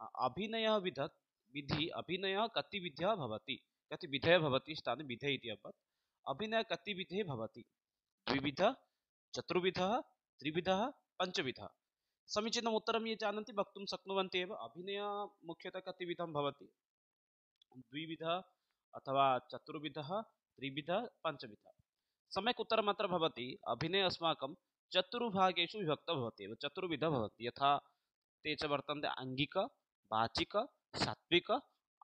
अभिनयः विधि अभिनयः कति विधः भवति, कति विधयः भवति स्थाने विधे इति अभवत्। अभिनयः कति विधे भवति, द्विविधः, चतुर्विधः, त्रिविधः, पञ्चविधः। समीचीनम् उत्तरं ये जानन्ति वक्तुं शक्नुवन्ति एव। अभिनयः मुख्यतः कति विधं भवति, द्विविधः अथवा चतुर्विधः, त्रिविधः, पञ्चविधः। सम्यक् उत्तरम् अत्र भवति अभिनयः अस्माकं चतुर्भागेषु विभक्तः भवति एव, चतुर्विधः भवति। यथा ते च वर्तन्ते आङ्गिक, वाचिक, सात्विक,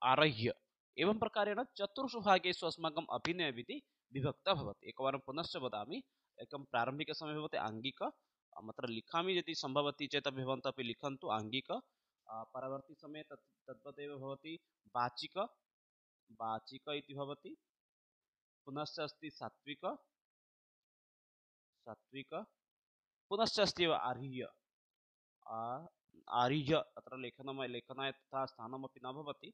आरह्य। एवं प्रकारेण चतुर्षु भागेषु अस्माकम् अभिनयविधिः विभक्तः भवति। एकवारं पुनश्च वदामि, एकं प्रारम्भिकसमये भवति आङ्गिक, अत्र लिखामि यदि सम्भवति चेत् अपि भवन्तः अपि लिखन्तु आङ्गिक। परवर्ती समये तद्वदेव भवति वाचिक, वाचिक इति भवति। पुनश्च अस्ति सात्विक, सात्विक, पुनश्च अस्ति एव आर्ह्य, आर्ह्य। अत्र लेखनाय तथा स्थानमपि न भवति।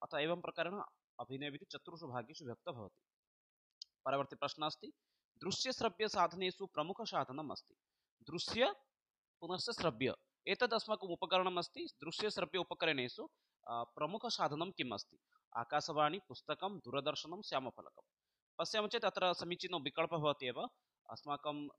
अतः एवं प्रकारेण अभिनयविधिः चतुर्षु भागेषु विभक्तः भवति। परवर्ती प्रश्नः अस्ति दृश्यश्रव्यसाधनेषु प्रमुखसाधनम् अस्ति। दृश्य पुनश्च श्रव्य एतद् अस्माकम् उपकरणम् अस्ति। दृश्यश्रव्य उपकरणेषु प्रमुखसाधनं किम् अस्ति? आकाशवाणी, पुस्तकं, दूरदर्शनं, श्यामफलकं। पश्यामः चेत् अत्र समीचीनो विकल्पः भवति एव। अस्माकम्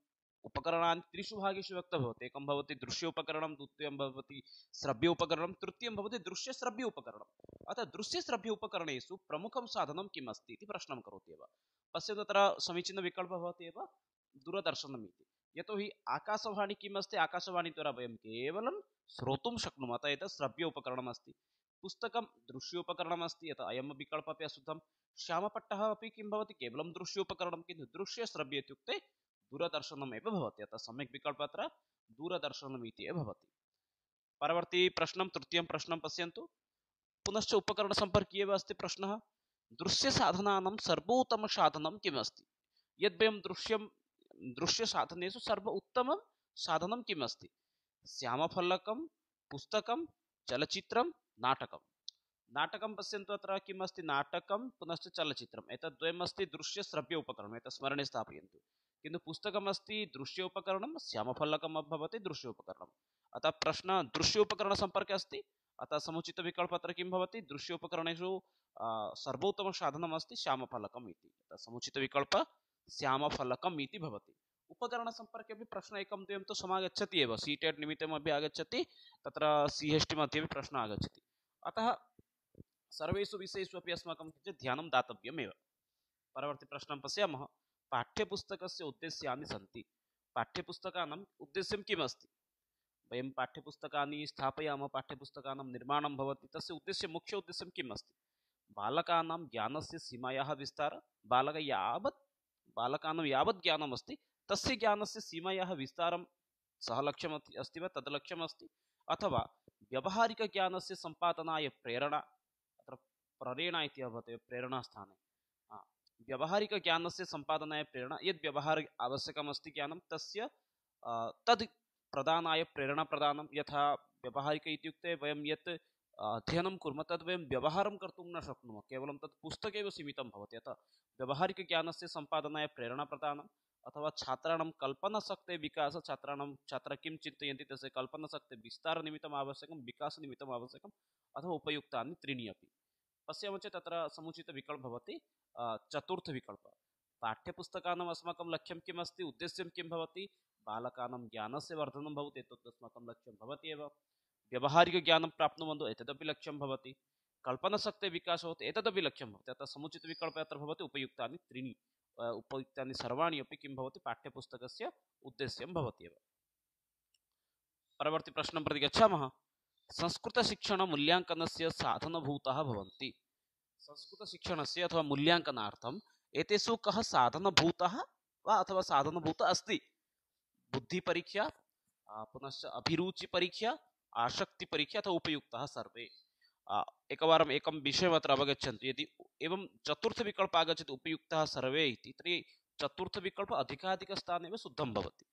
उपकरणानि त्रिषु भागेषु विभक्तः भवति। एकं भवति दृश्य उपकरणं, द्वितीयं भवति श्रव्य उपकरणं, तृतीयं भवति दृश्यश्रव्य उपकरणम्। अतः दृश्यश्रव्य उपकरणेषु प्रमुखं साधनं किम् अस्ति इति प्रश्नं करोति एव। पश्यतु तत्र समीचीनः विकल्पः भवति एव दूरदर्शनम् इति। यतोहि आकाशवाणी किम् अस्ति, आकाशवाणीद्वारा वयं केवलं श्रोतुं शक्नुमः, अतः एतत् श्रव्य उपकरणम् अस्ति। पुस्तकं दृश्योपकरणम् अस्ति, यतः अयं विकल्पः अपि अशुद्धं। श्यामपट्टः अपि किं भवति, केवलं दृश्योपकरणं, किन्तु दृश्यश्रव्य इत्युक्ते दूरदर्शनम् एव भवति। अतः सम्यक् विकल्पः अत्र दूरदर्शनम् इति एव भवति। परवर्ती प्रश्नं, तृतीयं प्रश्नं पश्यन्तु। पुनश्च उपकरणसम्पर्की एव अस्ति प्रश्नः। दृश्यसाधनानां सर्वोत्तमसाधनं किम् अस्ति? यद्वयं दृश्यसाधनेषु सर्व उत्तमं साधनं किम् अस्ति? श्यामफलकं, पुस्तकं, चलचित्रं, नाटकं। नाटकं पश्यन्तु अत्र किम् अस्ति, नाटकं पुनश्च चलचित्रम्, एतद्द्वयम् अस्ति दृश्यश्रव्य उपकरणम्, एतत् स्मरणे स्थापयन्तु। किन्तु पुस्तकम् अस्ति दृश्य उपकरणं, श्यामफलकम् भवति दृश्य उपकरणम्। अतः प्रश्नः दृश्योपकरणसम्पर्के अस्ति। अतः समुचितविकल्पः अत्र किं भवति, दृश्योपकरणेषु सर्वोत्तमं साधनम् अस्ति श्यामफलकम् इति। अतः समुचितविकल्पः श्यामफलकम् इति भवति। उपकरणसम्पर्के अपि प्रश्नः एकं द्वयं तु समागच्छति एव, सीटेट् निमित्तमपि आगच्छति, तत्र CHT मध्ये अपि प्रश्नः आगच्छति। अतः सर्वेषु विषयेषु अपि अस्माकं किञ्चित् ध्यानं दातव्यमेव। परवर्ती प्रश्नं पश्यामः। पाठ्यपुस्तकस्य उद्देश्यानि सन्ति। पाठ्यपुस्तकानाम् उद्देश्यं किम् अस्ति? वयं पाठ्यपुस्तकानि स्थापयामः, पाठ्यपुस्तकानां निर्माणं भवति, तस्य उद्देश्यं, मुख्य उद्देश्यं किम् अस्ति? बालकानां ज्ञानस्य सीमायाः विस्तारः, बालकानां यावत् ज्ञानम् अस्ति तस्य ज्ञानस्य सीमायाः विस्तारं सः लक्ष्यम् अस्ति वा, तद् लक्ष्यम् अस्ति? अथवा व्यावहारिकज्ञानस्य सम्पादनाय प्रेरणा, अत्र प्रेरणा इति भवति प्रेरणास्थाने। व्यावहारिकज्ञानस्य सम्पादनाय प्रेरणा, यद् व्यवहार आवश्यकमस्ति ज्ञानं तस्य तद् प्रदानाय प्रेरणाप्रदानं। यथा व्यावहारिक इत्युक्ते वयं यत् अध्ययनं कुर्मः तद् वयं व्यवहारं कर्तुं न शक्नुमः, केवलं तत् पुस्तके एव सीमितं भवति। अतः व्यावहारिकज्ञानस्य सम्पादनाय प्रेरणाप्रदानम्। अथवा छात्राणां कल्पनाशक्तेः विकासः, छात्राः किं चिन्तयन्ति तस्य कल्पनाशक्तेः विस्तारनिमित्तम् आवश्यकं, विकासनिमित्तम् आवश्यकम्। अथवा उपयुक्तानि त्रीणि अपि। पश्यामः चेत् तत्र समुचितविकल्पः भवति चतुर्थविकल्पः। पाठ्यपुस्तकानाम् अस्माकं लक्ष्यं किम् अस्ति, उद्देश्यं किं भवति? बालकानां ज्ञानस्य वर्धनं भवति, एतत् अस्माकं लक्ष्यं भवति एव। व्यावहारिकज्ञानं प्राप्नुवन्तु, एतदपि लक्ष्यं भवति। कल्पनाशक्तेः विकासः भवति, एतदपि लक्ष्यं भवति। अतः समुचितविकल्पः अत्र भवति उपयुक्तानि त्रीणि, उपयुक्तानि सर्वाणि अपि किं भवति, पाठ्यपुस्तकस्य उद्देश्यं भवति एव। परवर्ती प्रश्नं प्रति गच्छामः। संस्कृतशिक्षणमूल्याङ्कनस्य साधनभूताः भवन्ति। संस्कृतशिक्षणस्य अथवा मूल्याङ्कनार्थम् एतेषु कः साधनभूतः वा अथवा साधनभूतः अस्ति? बुद्धिपरीक्षा, पुनश्च अभिरुचिपरीक्षा, आसक्तिपरीक्षा अथवा उपयुक्ताः सर्वे। एकवारम् एकं विषयम् अत्र अवगच्छन्तु। यदि एवं चतुर्थविकल्पः आगच्छति उपयुक्ताः सर्वे इति, तर्हि चतुर्थविकल्पः अधिकाधिकस्थाने एव शुद्धं भवति।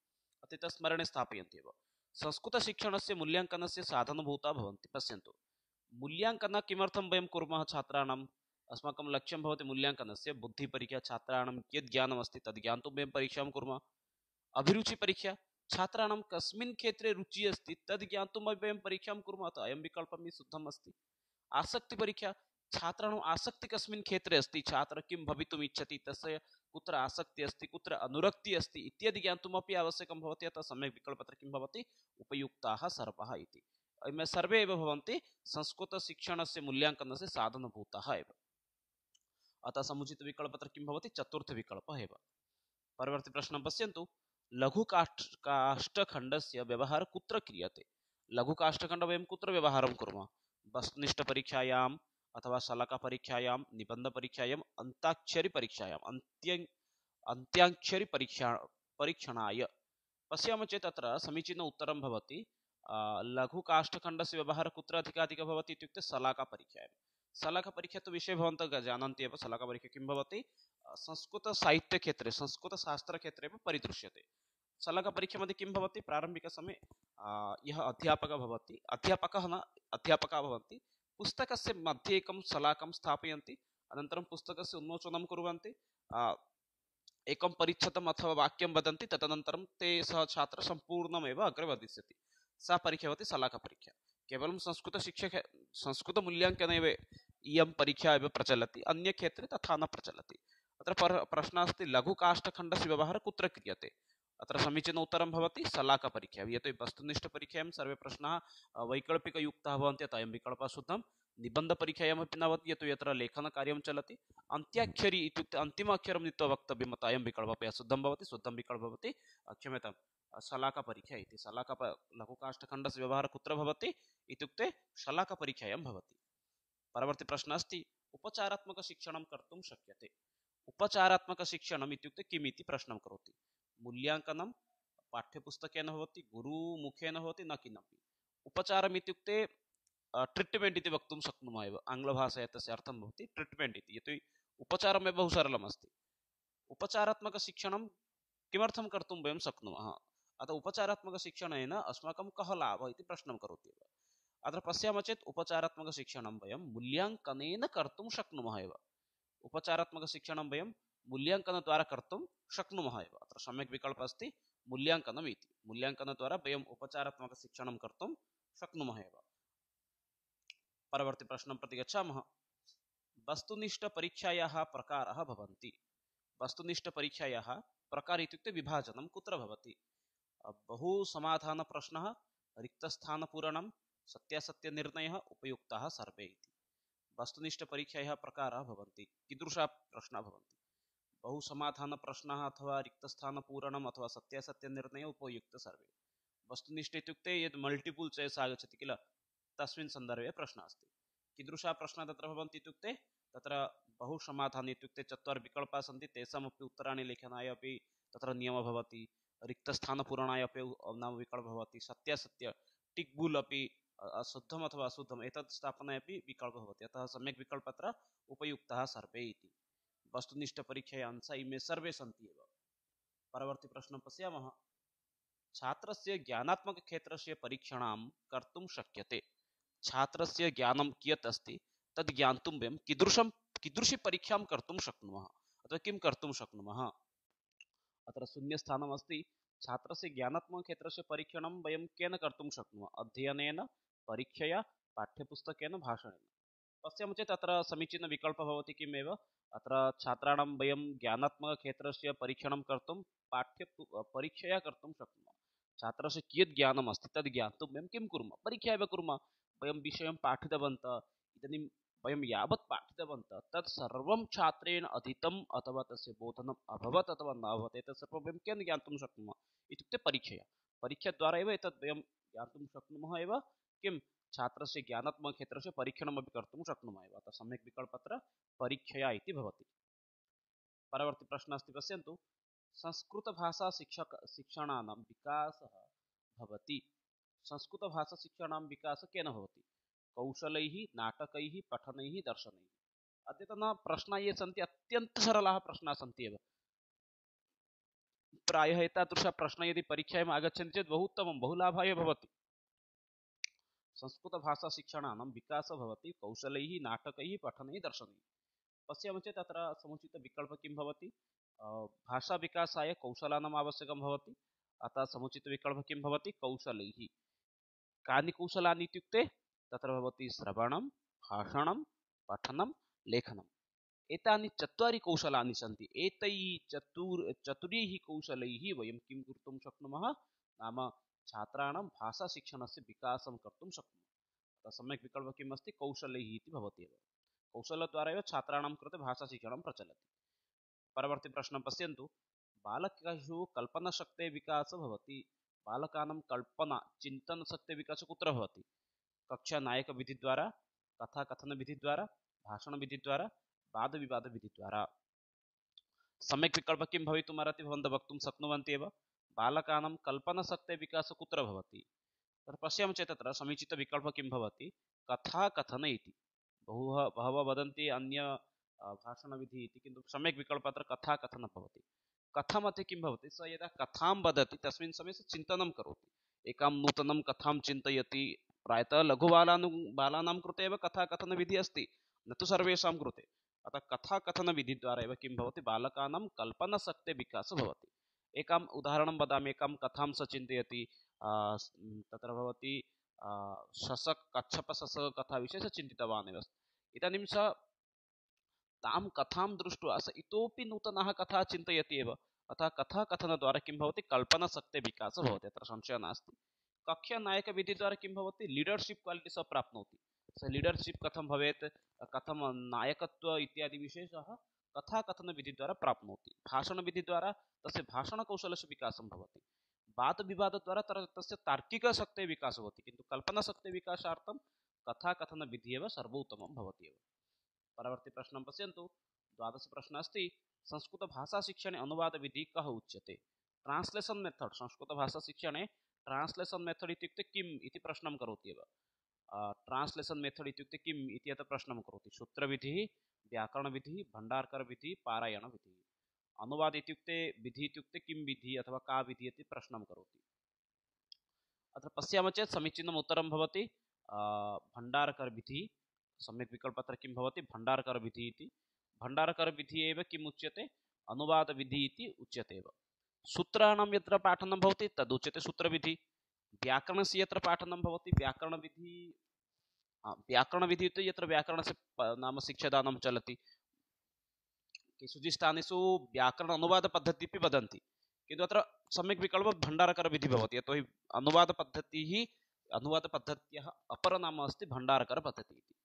अतः स्मरणे स्थापयन्ति एव। संस्कृतशिक्षणस्य मूल्याङ्कनस्य साधनभूताः भवन्ति। पश्यन्तु, मूल्याङ्कनं किमर्थं वयं कुर्मः? छात्राणाम् अस्माकं लक्ष्यं भवति मूल्याङ्कनस्य बुद्धिपरीक्षा, छात्राणां कियत् ज्ञानमस्ति तद् ज्ञातुं वयं परीक्षां कुर्मः। अभिरुचिपरीक्षा, छात्राणां कस्मिन् क्षेत्रे रुचिः अस्ति तद् ज्ञातुं वयं परीक्षां कुर्मः। अतः अयं विकल्पः शुद्धम् अस्ति। आसक्तिपरीक्षा, छात्राणाम् आसक्ति कस्मिन् क्षेत्रे अस्ति, छात्र किं भवितुम् इच्छति, तस्य कुत्र आसक्ति अस्ति, कुत्र अनुरक्ति अस्ति इत्यादि ज्ञातुमपि आवश्यकं भवति। अतः सम्यक् विकल्पत्र किं भवति, उपयुक्ताः सर्वः इति। अयं सर्वे एव भवन्ति संस्कृतशिक्षणस्य मूल्याङ्कनस्य साधनभूताः एव। अतः समुचितविकल्पत्र किं भवति, चतुर्थविकल्पः एव। परवर्ती प्रश्नं पश्यन्तु, लघुकाष्ठखण्डस्य व्यवहारः कुत्र क्रियते? लघुकाष्ठखण्ड वयं कुत्र व्यवहारं कुर्मः? वस्तुनिष्ठपरीक्षायाम् अथवा शलाकापरीक्षायां, निबन्धपरीक्षायाम्, अन्ताक्षरीपरीक्षायाम्, परीक्षणाय। पश्यामः चेत् अत्र समीचीन उत्तरं भवति लघुकाष्ठखण्डस्य व्यवहारः कुत्र अधिकाधिकः भवति इत्युक्ते शलाकापरीक्षायां। शलाकापरीक्षा तु विषये भवन्तः जानन्ति एव। शलाकापरीक्षा किं भवति, संस्कृतसाहित्यक्षेत्रे, संस्कृतशास्त्रक्षेत्रे एव परिदृश्यते। शलाकापरीक्षा मध्ये किं भवति, प्रारम्भिकसमये यः अध्यापकः भवति, अध्यापकाः भवन्ति, पुस्तकस्य मध्ये एकं शलाकं स्थापयन्ति, अनन्तरं पुस्तकस्य उन्मोचनं कुर्वन्ति, एकं परिच्छेदम् अथवा वाक्यं वदन्ति, तदनन्तरं ते सः छात्रः सम्पूर्णमेव अग्रे वदिष्यति। सा परीक्षा भवति शलाकापरीक्षा। केवलं संस्कृतमूल्याङ्कने एव इयं परीक्षा एव प्रचलति, अन्यक्षेत्रे तथा न प्रचलति। अत्र प्रश्नः अस्ति, लघुकाष्ठखण्डस्य व्यवहारः कुत्र क्रियते? अत्र समीचीन उत्तरं भवति शलाकापरीक्षा। यतो हि वस्तुनिष्ठपरीक्षायां सर्वे प्रश्नाः वैकल्पिकयुक्ताः भवन्ति, अतः अयं विकल्पः शुद्धं। निबन्धपरीक्षायामपि न भवति, यतो यत्र लेखनकार्यं चलति। अन्त्याक्षरी इत्युक्ते अन्तिम अक्षरं नीत्वा वक्तव्यम्, अतः अयं विकल्पः शुद्धं भवति। शुद्धं विकल्पः भवति क्षम्यतां शलाकापरीक्षा इति। लघुकाष्ठखण्डस्य व्यवहारः कुत्र भवति इत्युक्ते शलाकापरीक्षायां भवति। परवर्ती प्रश्नः अस्ति, उपचारात्मकशिक्षणं कर्तुं शक्यते? उपचारात्मकशिक्षणम् इत्युक्ते किम् इति प्रश्नं करोति। मूल्याङ्कनं पाठ्यपुस्तकेन भवति, गुरुमुखेन भवति, न किमपि। उपचारम् इत्युक्ते ट्रीट्मेण्ट् इति वक्तुं शक्नुमः एव। आङ्ग्लभाषायां तस्य अर्थं भवति ट्रीट्मेण्ट् इति। यतो हि उपचारमेव बहु सरलम् अस्ति। उपचारात्मकशिक्षणं किमर्थं कर्तुं वयं शक्नुमः? अतः उपचारात्मकशिक्षणेन अस्माकं कः लाभः इति प्रश्नं करोति एव। अत्र पश्यामः चेत् उपचारात्मकशिक्षणं वयं मूल्याङ्कनेन कर्तुं शक्नुमः एव। उपचारात्मकशिक्षणं वयं मूल्याङ्कनद्वारा कर्तुं शक्नुमः एव। अत्र सम्यक् विकल्पः अस्ति मूल्याङ्कनम् इति। मूल्याङ्कनद्वारा वयम् उपचारात्मकशिक्षणं कर्तुं शक्नुमः एव। परवर्ती प्रश्नं प्रति गच्छामः। वस्तुनिष्ठपरीक्षायाः प्रकाराः भवन्ति। वस्तुनिष्ठपरीक्षायाः प्रकार इत्युक्ते विभाजनं कुत्र भवति? बहु समाधानप्रश्नः, रिक्तस्थानपूरणं, सत्यासत्यनिर्णयः, उपयुक्ताः सर्वे इति। वस्तुनिष्ठपरीक्षायाः प्रकाराः भवन्ति। कीदृशाः प्रश्नाः भवन्ति? बहु समाधानप्रश्नः अथवा रिक्तस्थानपूरणम् अथवा सत्यासत्यनिर्णयः, उपयुक्त सर्वे। वस्तुनिष्ठ इत्युक्ते यद् मल्टिपुल् चॉइस् आगच्छति किल, तस्मिन् सन्दर्भे प्रश्नः अस्ति। कीदृशाः प्रश्नाः तत्र भवन्ति इत्युक्ते तत्र बहु समाधान इत्युक्ते 4 विकल्पाः सन्ति, तेषामपि उत्तराणि लेखनाय अपि तत्र नियमः भवति। रिक्तस्थानपूरणाय अपि नाम विकल्पः भवति। सत्यासत्य टिक् बुल् अपि शुद्धम् अथवा अशुद्धम् एतत् स्थापनाय अपि विकल्पः भवति। अतः सम्यक् विकल्पः अत्र उपयुक्ताः सर्वे इति। वस्तुनिष्ठपरीक्षायाः अंशाः इमे सर्वे सन्ति एव। परवर्ती प्रश्नं पश्यामः। छात्रस्य ज्ञानात्मकक्षेत्रस्य परीक्षणं कर्तुं शक्यते। छात्रस्य ज्ञानं कियत् अस्ति तद् ज्ञातुं वयं कीदृशी परीक्षां कर्तुं शक्नुमः अथवा किं कर्तुं शक्नुमः? अत्र शून्यस्थानम् अस्ति। छात्रस्य ज्ञानात्मकक्षेत्रस्य परीक्षणं वयं केन कर्तुं शक्नुमः? अध्ययनेन, परीक्षया, पाठ्यपुस्तकेन, भाषणेन। पश्यामः चेत् अत्र समीचीनविकल्पः भवति किमेव, अत्र छात्राणां वयं ज्ञानात्मकक्षेत्रस्य परीक्षणं कर्तुं परीक्षया कर्तुं शक्नुमः। छात्रस्य कियत् ज्ञानम् अस्ति तद् ज्ञातुं वयं किं कुर्मः? परीक्षा एव कुर्मः। वयं विषयं पाठितवन्तः, इदानीं वयं यावत् पाठितवन्तः तत् सर्वं छात्रेण अधीतम् अथवा तस्य बोधनम् अभवत् अथवा न अभवत्, एतत् सर्वं वयं केन ज्ञातुं शक्नुमः इत्युक्ते परीक्षया। परीक्षाद्वारा एव एतत् वयं ज्ञातुं शक्नुमः एव। किं? छात्रस्य ज्ञानात्मकक्षेत्रस्य परीक्षणमपि कर्तुं शक्नुमः एव। अतः सम्यक् विकल्पः अत्र परीक्षया इति भवति। परवर्ती प्रश्नः अस्ति, पश्यन्तु। संस्कृतभाषाशिक्षणानां विकासः भवति। संस्कृतभाषाशिक्षणानां विकासः केन भवति? कौशलैः, नाटकैः, पठनैः, दर्शनैः। अद्यतन प्रश्नाः ये सन्ति अत्यन्तसरलाः प्रश्नाः सन्ति एव। प्रायः एतादृशः प्रश्नः यदि परीक्षायाम् आगच्छन्ति चेत् बहु उत्तमं, बहु लाभाय भवति। संस्कृतभाषाशिक्षणानां विकासः भवति कौशलैः, नाटकैः, पठनैः, दर्शनैः। पश्यामः चेत् अत्र समुचितविकल्पः किं भवति? भाषाविकासाय कौशलानाम् आवश्यकं भवति, अतः समुचितविकल्पः किं भवति कौशलैः। कानि कौशलानि इत्युक्ते तत्र भवति श्रवणं, भाषणं, पठनं, लेखनम्। एतानि चत्वारि कौशलानि सन्ति। एतैः चतुर्ैः कौशलैः वयं किं कर्तुं शक्नुमः नाम छात्राणां भाषाशिक्षणस्य विकासं कर्तुं शक्नुमः। सम्यक् विकल्पः किम् अस्ति कौशलैः इति भवति एव। कौशलद्वारा एव छात्राणां कृते भाषाशिक्षणं प्रचलति। परवर्ती प्रश्नं पश्यन्तु। बालकेषु कल्पनाशक्तेः विकासः भवति। बालकानां कल्पना चिन्तनशक्तेः विकासः कुत्र भवति? कक्षानायकविधिद्वारा, कथाकथनविधिद्वारा, भाषणविधिद्वारा, वादविवादविधिद्वारा। सम्यक् विकल्पः किं भवितुमर्हति भवन्तः वक्तुं शक्नुवन्ति एव। बालकानां कल्पनाशक्तेः विकासः कुत्र भवति? तत्र पश्यामः चेत् तत्र समीचीनविकल्पः किं भवति कथाकथन इति। बहवः वदन्ति अन्य भाषणविधिः इति, किन्तु सम्यक् विकल्पः अत्र कथाकथनं भवति। कथामध्ये किं भवति सः यदा कथां वदति तस्मिन् समये सः चिन्तनं करोति, एकां नूतनं कथां चिन्तयति। प्रायतः बालानां कृते एव कथाकथनविधिः अस्ति, न तु सर्वेषां कृते। अतः कथाकथनविधिद्वारा एव किं भवति बालकानां कल्पनाशक्तेः विकासः भवति। एकम् उदाहरणं वदामि। एकां कथां सः चिन्तयति, तत्र भवति शशक कच्छप शशक कथा विषये सः चिन्तितवान् एव। इदानीं सः तां कथां दृष्ट्वा सः इतोपि नूतनः कथा चिन्तयति एव। अतः कथाकथनद्वारा किं भवति कल्पनाशक्तेः विकासः भवति, अत्र संशयः नास्ति। कक्षानायकविधिद्वारा किं भवति लीडर्शिप् क्वालिटि सः प्राप्नोति। सः लीडर्शिप् कथं भवेत्, कथं नायकत्व इत्यादि विषये सः कथाकथनविधिद्वारा प्राप्नोति। भाषणविधिद्वारा तस्य भाषणकौशलस्य विकासं भवति। वादविवादद्वारा तस्य तार्किकशक्तेः विकासः भवति, किन्तु कल्पनाशक्तेः विकासार्थं कथाकथनविधिः एव सर्वोत्तमं भवति एव। परवर्ती प्रश्नं पश्यन्तु। द्वादश प्रश्नः अस्ति संस्कृतभाषाशिक्षणे अनुवादविधिः कः उच्यते? Translation method. संस्कृतभाषाशिक्षणे ट्रान्स्लेशन् मेथड् इत्युक्ते किम् इति प्रश्नं करोति एव। ट्रान्स्लेशन् मेथड् इत्युक्ते किम् इति अत्र प्रश्नं करोति। सूत्रविधिः, व्याकरणविधिः, भण्डारकरविधिः, पारायणविधिः। अनुवाद इत्युक्ते विधि इत्युक्ते किं विधिः अथवा का विधिः इति प्रश्नं करोति। अत्र पश्यामः चेत् समीचीनम् उत्तरं भवति भण्डारकरविधिः। सम्यक् विकल्पः अत्र किं भवति भण्डारकरविधिः इति। भण्डारकरविधिः एव किम् उच्यते अनुवादविधिः इति उच्यते एव। सूत्राणां यत्र पाठनं भवति तदुच्यते सूत्रविधिः। व्याकरणस्य यत्र पाठनं भवति व्याकरणविधिः। व्याकरणविधिः इति यत्र व्याकरणस्य नाम शिक्षादानं चलति। केषुचित् स्थानेषु व्याकरण अनुवादपद्धतिः अपि वदन्ति, किन्तु अत्र सम्यक् विकल्पः भण्डारकरविधिः भवति। यतोहि अनुवादपद्धत्याः अपरं नाम अस्ति भण्डारकरपद्धतिः इति।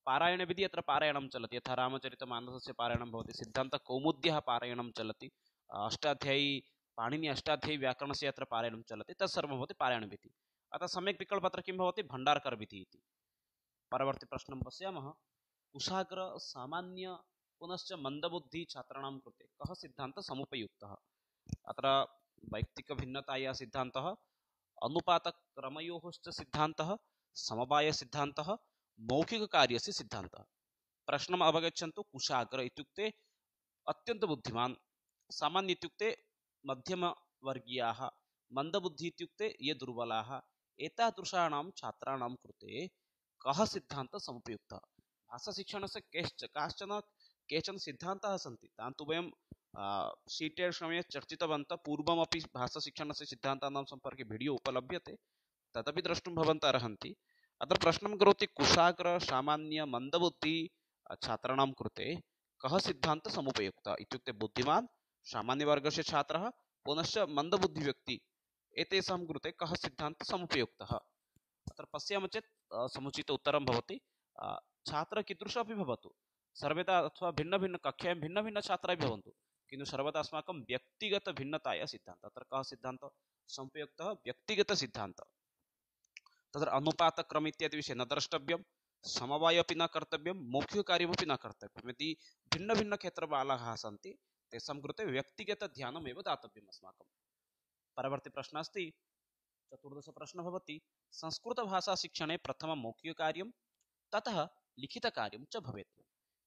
पारायणविधिः अत्र पारायणं चलति, यथा रामचरितमानसस्य पारायणं भवति, सिद्धान्तकौमुद्याः पारायणं चलति, अष्टाध्यायी पाणिनि अष्टाध्यायी व्याकरणस्य यत्र पारायणं चलति तत्सर्वं भवति पारायणविधिः। अतः सम्यक् विकल्पः अत्र किं भवति भण्डारकरविधिः इति। परवर्ती प्रश्नं पश्यामः। कुशाग्र सामान्य पुनश्च मंदबुद्धि छात्राणां कृते कः सिद्धान्तः समुपयुक्तः? अत्र वैयक्तिकभिन्नतायाः सिद्धान्तः, अनुपातक्रमयोः च सिद्धान्तः, समवायसिद्धान्तः, मौखिककार्यस्य सिद्धान्तः। प्रश्नम् अवगच्छन्तु। कुशाग्र इत्युक्ते अत्यन्त बुद्धिमान्, सामान्य इत्युक्ते मध्यमवर्गीयाः, मंदबुद्धि इत्युक्ते ये दुर्बलाः। एतादृशाणां छात्राणां कृते कः सिद्धान्तः समुपयुक्तः? भाषाशिक्षणस्य केचन सिद्धान्ताः सन्ति, तान् तु वयं सीटेट् समये चर्चितवन्तः। पूर्वमपि भाषाशिक्षणस्य सिद्धान्तानां सम्पर्के वीडियो उपलभ्यते, तदपि द्रष्टुं भवन्तः अर्हन्ति। अत्र प्रश्नं करोति कुशाग्र सामान्य मंदबुद्धि छात्राणां कृते कः सिद्धान्तः समुपयुक्तः इत्युक्ते बुद्धिमान्, सामान्यवर्गस्य छात्रः पुनश्च मंदबुद्धिव्यक्ति, एतेषां कृते कः सिद्धान्तः समुपयुक्तः? अत्र पश्यामः चेत् समुचित उत्तरं भवति छात्रः कीदृशः अपि भवतु, सर्वदा अथवा भिन्नभिन्नकक्षायां भिन्नभिन्नछात्राः भवन्तु, किन्तु सर्वदा अस्माकं व्यक्तिगतभिन्नतायाः सिद्धान्तः। अत्र कः सिद्धान्तः समुपयुक्तः? व्यक्तिगतसिद्धान्तः। तत्र अनुपातक्रम इत्यादि विषये न द्रष्टव्यं, समवाय अपि न कर्तव्यं, मौखिककार्यमपि न कर्तव्यं। यदि भिन्नभिन्नक्षेत्रबालाः सन्ति तेषां कृते व्यक्तिगतध्यानम् एव दातव्यम् अस्माकं। परवर्ती प्रश्नः अस्ति चतुर्दश प्रश्नः भवति संस्कृतभाषाशिक्षणे प्रथमं मौखिककार्यं ततः लिखितकार्यं च भवेत्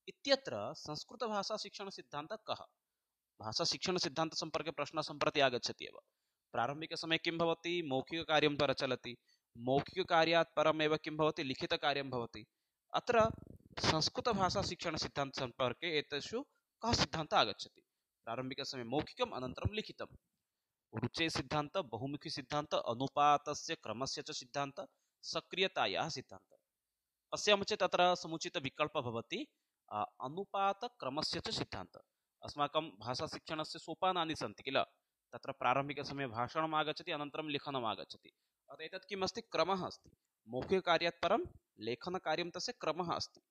इत्यत्र संस्कृतभाषाशिक्षणसिद्धान्तः कः? भाषाशिक्षणसिद्धान्तसम्पर्के प्रश्नः सम्प्रति आगच्छति एव। प्रारम्भिकसमये किं भवति मौखिककार्यं प्रचलति, मौखिककार्यात् परमेव किं भवति लिखितकार्यं भवति। अत्र संस्कृतभाषाशिक्षणसिद्धान्तसम्पर्के एतेषु कः सिद्धान्तः आगच्छति? प्रारम्भिकसमये मौखिकम् अनन्तरं लिखितं। रुचे सिद्धांत, बहुमुखी सिद्धांत, अनुपातस्य क्रमस्य च सिद्धांत, सक्रियतायाः सिद्धांत। पश्यामः चेत् तत्र समुचित विकल्पः भवति अनुपात क्रमस्य च सिद्धांत। अस्माकं भाषाशिक्षणस्य सोपानानि सन्ति किल, तत्र प्रारम्भिकसमये भाषणम् आगच्छति, अनन्तरं लेखनम् आगच्छति। अतः एतत् किम् अस्ति, क्रमः अस्ति। मौखिककार्यात् परं लेखनकार्यं तस्य क्रमः अस्ति।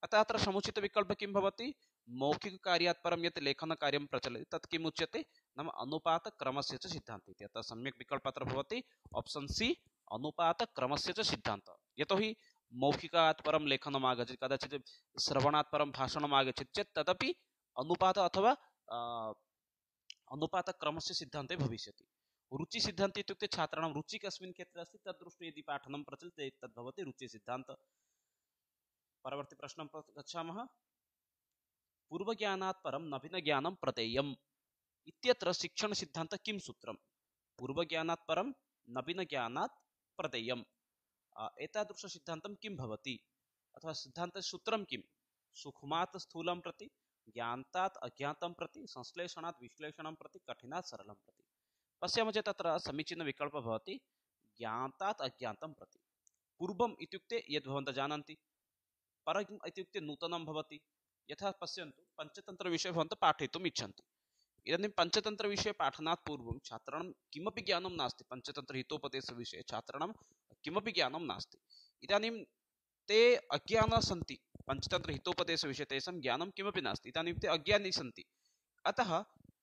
अतः अत्र समुचितविकल्पः किं भवति, मौखिककार्यात् परं यत् लेखनकार्यं प्रचलति तत् किम् उच्यते, नाम अनुपातक्रमस्य च सिद्धान्तः इति। अतः सम्यक् विकल्पः अत्र भवति ऑप्शन सी, अनुपातक्रमस्य च सिद्धान्तः। यतोहि मौखिकात् परं लेखनम् आगच्छति, कदाचित् श्रवणात् परं भाषणम् आगच्छति चेत् तदपि अनुपात अथवा अनुपातक्रमस्य सिद्धान्ते भविष्यति। रुचिसिद्धान्त इत्युक्ते छात्राणां रुचिः कस्मिन् क्षेत्रे अस्ति तद्दृष्ट्वा यदि पाठनं प्रचलति तद् भवति रुचिसिद्धान्तः। परवर्ती प्रश्नं गच्छामः। पूर्वज्ञानात् परं नवीनज्ञानं प्रदेयम् इत्यत्र शिक्षणसिद्धान्तः किं सूत्रम्? पूर्वज्ञानात् परं नवीनज्ञानात् प्रदेयम्, एतादृशसिद्धान्तं किं भवति अथवा सिद्धान्तसूत्रं किं? सूक्ष्मात् स्थूलं प्रति, ज्ञातात् अज्ञातं प्रति, संश्लेषणात् विश्लेषणं प्रति, कठिनात् सरलं प्रति। पश्यामः चेत् तत्र समीचीनविकल्पः भवति ज्ञातात् अज्ञातं प्रति। पूर्वम् इत्युक्ते यद् भवन्तः जानन्ति, परम् इत्युक्ते नूतनं भवति। यथा पश्यन्तु, पञ्चतन्त्रविषये भवन्तः पाठयितुम् इच्छन्ति। इदानीं पञ्चतन्त्रविषये पाठनात् पूर्वं छात्राणां किमपि ज्ञानं नास्ति। पञ्चतन्त्रहितोपदेशविषये छात्राणां किमपि ज्ञानं नास्ति। इदानीं ते अज्ञानाः सन्ति, पञ्चतन्त्रहितोपदेशविषये तेषां ज्ञानं किमपि नास्ति, इदानीं ते अज्ञानी सन्ति। अतः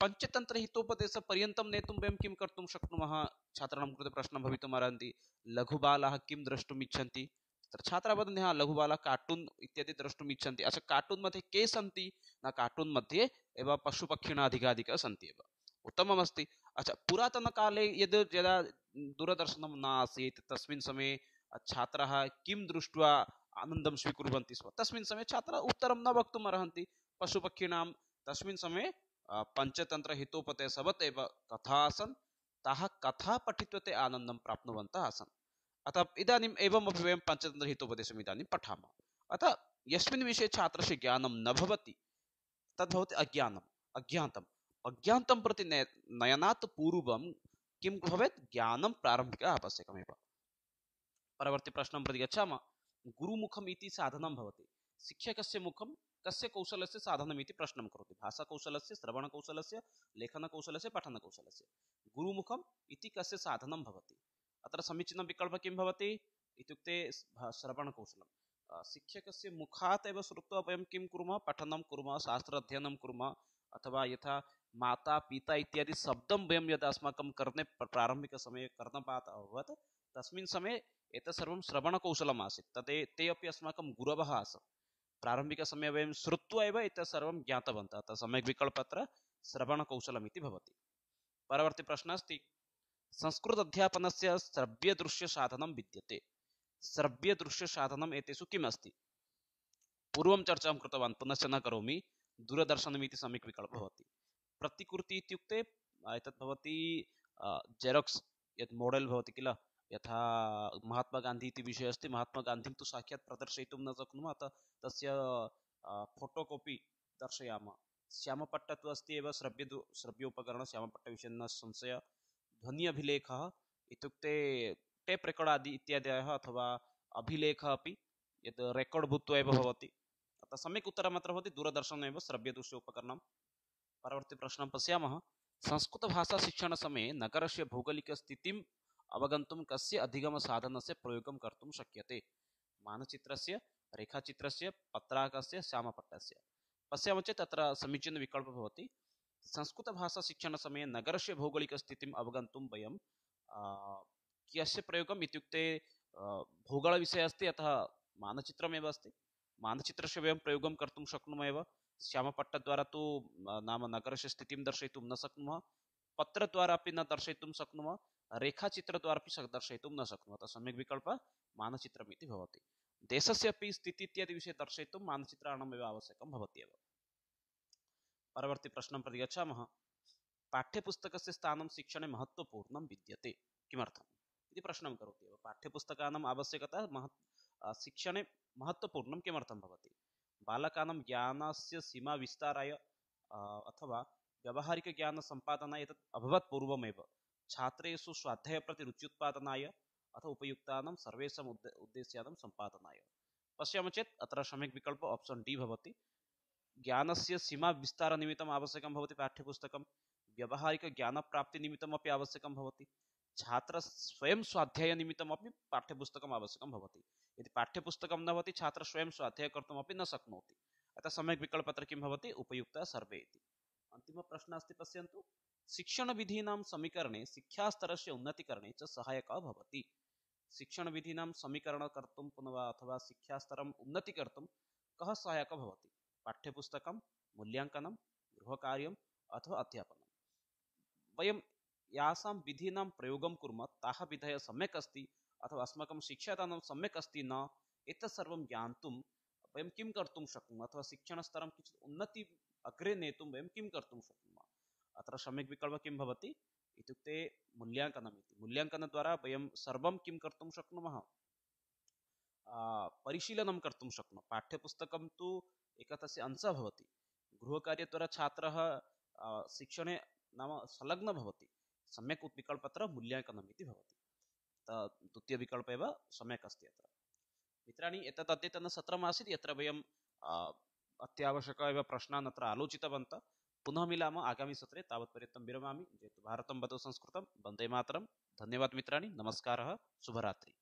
पञ्चतन्त्रहितोपदेशपर्यन्तं नेतुं वयं किं कर्तुं शक्नुमः? छात्राणां कृते प्रश्नः भवितुम् अर्हन्ति, लघुबालाः किं द्रष्टुम् इच्छन्ति? तत्र छात्राः वदन्ति हा लघुबालाः कार्टून् इत्यादि द्रष्टुम् इच्छन्ति। अच्छा, कार्टून् मध्ये के सन्ति? न कार्टून् मध्ये एव पशुपक्षिणः अधिकाधिकाः सन्ति एव, उत्तममस्ति। अच्छा, पुरातनकाले यदा दूरदर्शनं न आसीत् तस्मिन् समये छात्राः किं दृष्ट्वा आनन्दं स्वीकुर्वन्ति स्म? तस्मिन् समये छात्राः उत्तरं न वक्तुम् अर्हन्ति पशुपक्षिणां। तस्मिन् समये पञ्चतन्त्रहितोपदेशवत् एव कथा आसन्, ताः कथा पठित्वा ते आनन्दं प्राप्नुवन्तः आसन्। अतः इदानीम् एवमपि वयं पञ्चतन्त्रहितोपदेशम् इदानीं पठामः। अतः यस्मिन् विषये छात्रस्य ज्ञानं न भवति तद् भवति अज्ञानम्, अज्ञातम्। अज्ञातं प्रति नयनात् पूर्वं किं भवेत्? ज्ञानं प्रारम्भिकः आवश्यकमेव। परवर्ती प्रश्नं प्रति गच्छामः। गुरुमुखम् इति साधनं भवति। शिक्षकस्य मुखं कस्य कौशलस्य साधनम् इति प्रश्नं करोति। भाषाकौशलस्य, श्रवणकौशलस्य, लेखनकौशलस्य, पठनकौशलस्य। गुरुमुखम् इति कस्य साधनं भवति? अत्र समीचीनं विकल्पः किं भवति इत्युक्ते श्रवणकौशलं। शिक्षकस्य मुखात् एव श्रुत्वा वयं किं कुर्मः? पठनं कुर्मः, शास्त्र अध्ययनं कुर्मः। अथवा यथा माता पिता इत्यादि शब्दं वयं यदा अस्माकं कर्णे प्रारम्भिकसमये कर्णपातः अभवत् तस्मिन् समये एतत् सर्वं श्रवणकौशलम् आसीत्। ते अपि अस्माकं गुरवः आसन्। प्रारम्भिकसमये वयं श्रुत्वा एव एतत् सर्वं ज्ञातवन्तः। अतः सम्यक् विकल्पः अत्र श्रवणकौशलम् इति भवति। परवर्ती प्रश्नः अस्ति, संस्कृत अध्यापनस्य श्रव्यदृश्यसाधनं विद्यते। श्रव्यदृश्यसाधनम् एतेषु किम् अस्ति? पूर्वं चर्चां कृतवान्, पुनश्च न करोमि। दूरदर्शनम् इति सम्यक् विकल्पः भवति। प्रतिकृति इत्युक्ते एतत् भवति जेरोक्स्, यत् मोडेल् भवति किल, यथा महात्मा गान्धी इति विषयः अस्ति। महात्मा गान्धीं तु साक्षात् प्रदर्शयितुं न शक्नुमः, अतः तस्य फोटोकॉपी दर्शयामः। श्यामपट्ट तु अस्ति एव श्रव्योपकरणं, श्यामपट्टविषये न संशयः। ध्वनि अभिलेखः इत्युक्ते टेप् रेकार्ड् आदि इत्यादयः, अथवा अभिलेखः अपि यत् रेकार्ड् भूत्वा एव भवति। अतः सम्यक् उत्तरम् अत्र भवति दूरदर्शनम् एव श्रव्यदृश्य उपकरणं। परवर्ती प्रश्नं पश्यामः। संस्कृतभाषाशिक्षणसमये नगरस्य भौगोलिकस्थितिम् अवगन्तुं कस्य अधिगमसाधनस्य प्रयोगं कर्तुं शक्यते? मानचित्रस्य, रेखाचित्रस्य, पत्राकस्य, श्यामपट्टस्य। पश्यामः चेत् तत्र समीचीनविकल्पः भवति। संस्कृतभाषाशिक्षणसमये नगरस्य भौगोलिकस्थितिम् अवगन्तुं वयं कस्य प्रयोगम् इत्युक्ते भूगोलविषयः अस्ति, अतः मानचित्रमेव अस्ति। मानचित्रस्य वयं प्रयोगं कर्तुं शक्नुमः एव। श्यामपट्टद्वारा तु नाम नगरस्य स्थितिं दर्शयितुं न शक्नुमः, पत्रद्वारा अपि न दर्शयितुं शक्नुमः, रेखाचित्रद्वारा अपि दर्शयितुं न शक्नुमः। अतः सम्यक् विकल्पः मानचित्रम् इति भवति। देशस्य अपि स्थितिः इत्यादि विषये दर्शयितुं मानचित्राणामेव आवश्यकं भवत्येव। परवर्ती प्रश्नं प्रति गच्छामः। पाठ्यपुस्तकस्य स्थानं शिक्षणे महत्त्वपूर्णं विद्यते, किमर्थम् इति प्रश्नं करोति एव। पाठ्यपुस्तकानाम् आवश्यकता शिक्षणे महत्त्वपूर्णं किमर्थं भवति? बालकानां ज्ञानस्य सीमा विस्ताराय अथवा व्यावहारिकज्ञानसम्पादनाय एतत् अभवत् पूर्वमेव। छात्रेषु स्वाध्याय प्रति रुच्युत्पादनाय अथवा उपयुक्तानां सर्वेषाम् उद्देश्यानां सम्पादनाय। पश्यामः चेत् अत्र सम्यक् विकल्प ऑप्शन डी भवति। ज्ञानस्य सीमा विस्तारनिमित्तम् आवश्यकं भवति पाठ्यपुस्तकं, व्यावहारिकज्ञानप्राप्तिनिमित्तमपि आवश्यकं भवति, छात्र स्वयं स्वाध्यायनिमित्तमपि पाठ्यपुस्तकम् आवश्यकं भवति। यदि पाठ्यपुस्तकं न भवति छात्र स्वयं स्वाध्याय कर्तुमपि न शक्नोति। अतः सम्यक् विकल्प अत्र किं भवति, उपयुक्तः सर्वे इति। अन्तिमप्रश्नः अस्ति, पश्यन्तु। शिक्षणविधीनां समीकरणे शिक्षास्तरस्य उन्नतीकरणे च सहायकः भवति। शिक्षणविधीनां समीकरणं कर्तुं पुनः अथवा शिक्षास्तरम् उन्नतीकर्तुं कः सहायकः भवति? पाठ्यपुस्तकं, मूल्याङ्कनं, गृहकार्यम् अथवा अध्यापनं। वयं यासां विधीनां प्रयोगं कुर्मः ताः विधयः सम्यक् अस्ति अथवा अस्माकं शिक्षादानं सम्यक् अस्ति न, एतत् सर्वं ज्ञातुं वयं किं कर्तुं शक्नुमः अथवा शिक्षणस्तरं किञ्चित् उन्नति अग्रे नेतुं वयं किं कर्तुं शक्नुमः। अत्र सम्यक् विकल्पः किं भवति इत्युक्ते मूल्याङ्कनम् इति। मूल्याङ्कनद्वारा वयं सर्वं किं कर्तुं शक्नुमः, परिशीलनं कर्तुं शक्नुमः। पाठ्यपुस्तकं तु एकः तस्य अंशः भवति, गृहकार्यद्वारा छात्रः शिक्षणे नाम संलग्नः भवति। सम्यक् विकल्पः अत्र मूल्याङ्कनम् इति भवति। द्वितीयविकल्पः एव सम्यक् अस्ति अत्र। मित्राणि, एतत् अद्यतनसत्रम् आसीत् यत्र वयं अत्यावश्यक एव प्रश्नान् अत्र आलोचितवन्तः। पुनः मिलामः आगामि सत्रे। तावत्पर्यन्तं विरमामि। जयतु भारतं, वदतु संस्कृतं, वन्दे मातरं। धन्यवादः मित्राणि, नमस्कारः, शुभरात्रि।